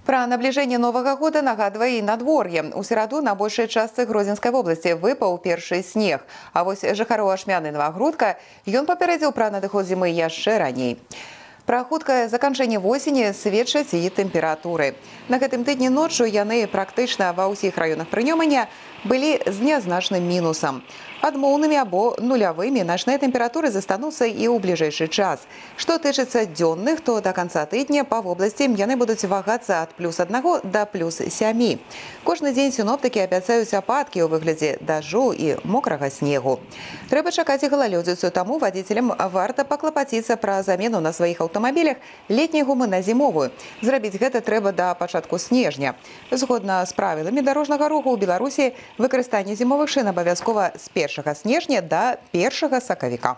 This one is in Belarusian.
Пра набліжэнне новага года нагадвае і надвор'е. У сераду на большай частцы Гродзенскай вобласці выпаў першы снег. А вось жыхароў Ашмяны і Новагрудка ён папярэдзіў пра надыход зімы яшчэ раней. Пра хуткае заканчэнне восені сведчаць і тэмпературы. На гэтым тыдні ноччу яны практычна ва ўсіх раёнах прынёмання былі з нязначным мінусам. Адмоўнымі або нулявымі начныя тэмпературы застануцца і ў бліжэйшы час. Што тычыцца дзённых, то да канца тыдня па вобласці яны будуць вагацца ад +1 да +7. Кожны дзень сіноптыкі абяцаюць ападкі ў выглядзе дажджу і мокрага снегу. Трэба чакаць і галалёдзіцу, таму вадзіцелям варта паклапаціцца пра замену на сваіх аўтамабілях летняй гумы на зімовую. Зрабіць гэта трэба да пачатку снежня. Згодна з правіламі дарожнага руху ў Беларусі выкарыстанне зімовых шын абавязкова з 1 снежня да 1 сакавіка.